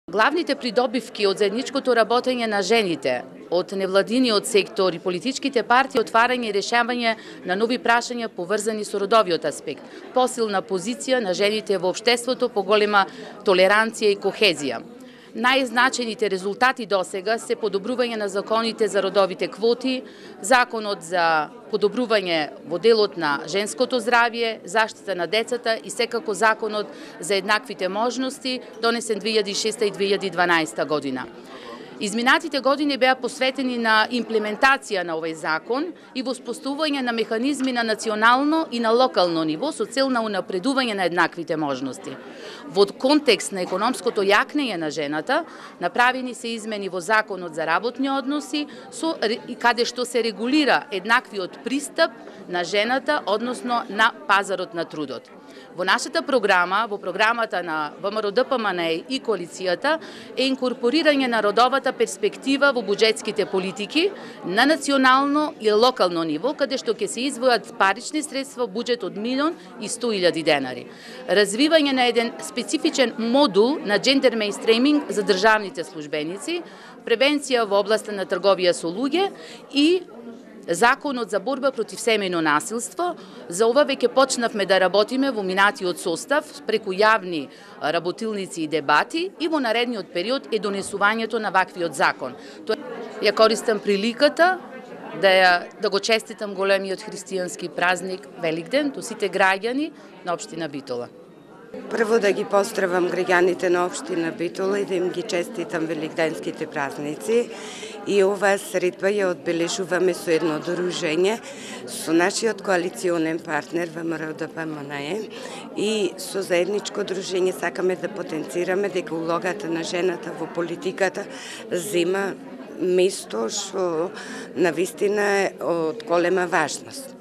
Главните придобивки од заедничкото работење на жените, од невладиниот сектор и политичките партии, отварање и решавање на нови прашања поврзани со родовиот аспект, посилна позиција на жените во општеството, поголема толеранција и кохезија. Најзначените резултати досега се подобрување на законите за родовите квоти, законот за подобрување во делот на женското здравје, заштита на децата и секако законот за еднаквите можности, донесен 2006 и 2012 година. Изминатите години беа посветени на имплементација на овој закон и воспоставување на механизми на национално и на локално ниво со цел на унапредување на еднаквите можности. Во контекст на економското јакнење на жената, направени се измени во Законот за работни односи, каде што се регулира еднаквиот пристап на жената, односно на пазарот на трудот. Во нашата програма, во програмата на ВМРО-ДПМНЕ и коалицијата, е инкорпорирање на родовата перспектива во буџетските политики на национално и локално ниво, каде што ќе се издвојат парични средства буџет од 1.100.000 денари. Развивање на еден специфичен модул на джендер мејнстреминг за државните службеници, превенција во областа на трговија со луѓе и Законот за борба против семејно насилство. За ова веќе почнавме да работиме во минатиот состав преку јавни работилници и дебати и во наредниот период е донесувањето на ваквиот закон. Ја користам приликата да го честитам големиот христијански празник Великден до сите граѓани на општина Битола. Прво да ги поздравам граѓаните на општина Битола и да им ги честитам великденските празници. И оваа средба ја одбележуваме со едно дружење со нашиот коалиционен партнер ВМРО-ДПМНЕ и со заедничко дружење сакаме да потенцираме дека улогата на жената во политиката зема место што навистина е од голема важност.